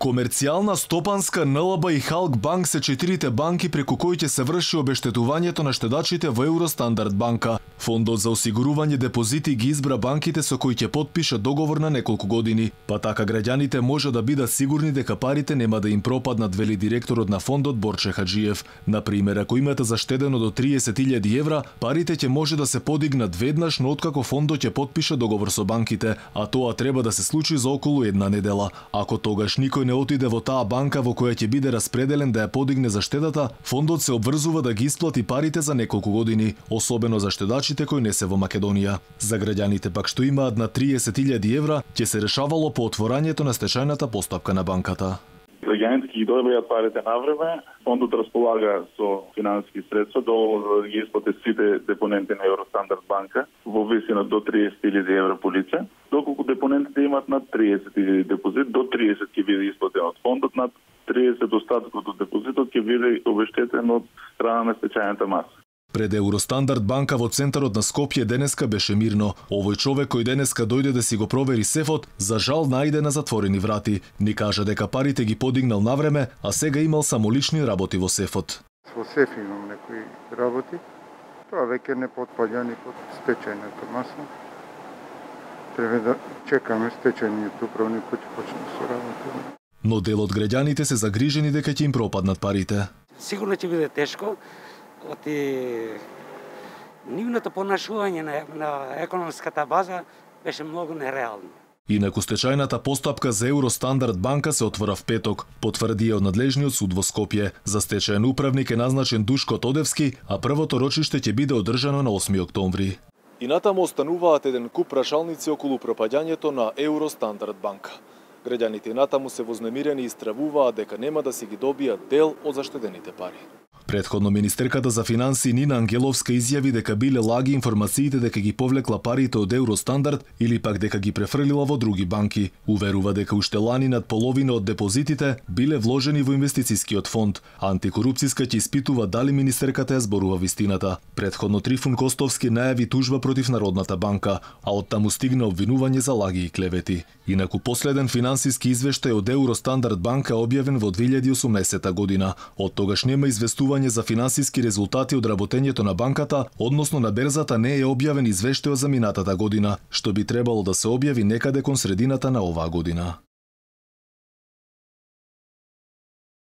Комерцијална, Стопанска, НЛБ и Халк банк се четирите банки преку кои ќе се врши обештетувањето на штедачите во Евростандард банка. Фондот за осигурување депозити ги избра банките со кои ќе потпише договор на неколку години, па така граѓаните може да бидат сигурни дека парите нема да им пропаднат, вели директорот на фондот Борче Хаджиев. Например, ако имате заштедено до 30.000 евра, парите ќе може да се подигнат веднаш, но откако фондот ќе потпише договор со банките, а тоа треба да се случи за околу една недела. Ако тогаш никој не отиде во таа банка во која ќе биде распределен да ја подигне заштедата, фондот се обврзува да ги исплати парите за неколку години, особено за штедачите кои не се во Македонија. За граѓаните пак што имаат на 30.000 евра, ќе се решавало по отворањето на стечајната постапка на банката. Граѓаните ќе ги добијат парите на време, фондот располага со финансиски средства доволно да ги исплати сите депоненти на Евростандард банка во висина до 30.000 евра по лице, доколку депонентите имат над 30.000 депозит, до 30 ќе биде исплатен од фондот, над 30 остаткот од депозитот ќе биде обештетен од страна на стечајната маса. Пред Евростандард банка во центарот на Скопје денеска беше мирно. Овој човек кој денеска дојде да си го провери сефот, за жал најде на затворени врати. Ни кажа дека парите ги подигнал навреме, а сега имал само лични работи во сефот. Во сеф имам некои работи. Тоа веќе не потпаѓа ни под стечајната маса. Треба да чекаме стечајниот управник кој ќе почне со работа. Но дел од граѓаните се загрижени дека ќе им пропаднат парите. Сигурно ќе биде тешко. Нивното понашување на економската база беше многу нереално. Инаку стечајната постапка за Евростандард банка се отвора в петок, потврдија од надлежниот суд во Скопје. За стечајен управник е назначен Душко Тодевски, а првото рочиште ќе биде одржано на 8 октомври. И натаму остануваат еден куп прашалници околу пропаѓањето на Евростандард банка. Граѓаните натаму се вознемирени и стравуваат дека нема да си ги добијат дел од заштедените пари. Предходно министерката за финансии Нина Ангеловска изјави дека биле лаги информациите дека ги повлекла парите од Евростандард или пак дека ги префрлила во други банки. Уверува дека уште лани над половина од депозитите биле вложени во инвестицискиот фонд. Антикорупцијска ќе испитува дали министерката ја зборува вистината. Предходно Трифун Костовски најави тужба против Народната банка, а оттаму стигна обвинување за лаги и клевети. Инаку последен финансиски извештај од Евростандард банка објавен во 2018 година. Од тогаш нема известување за финансиски резултати од работењето на банката, односно на берзата не е објавен извештај за минатата година, што би требало да се објави некаде кон средината на оваа година.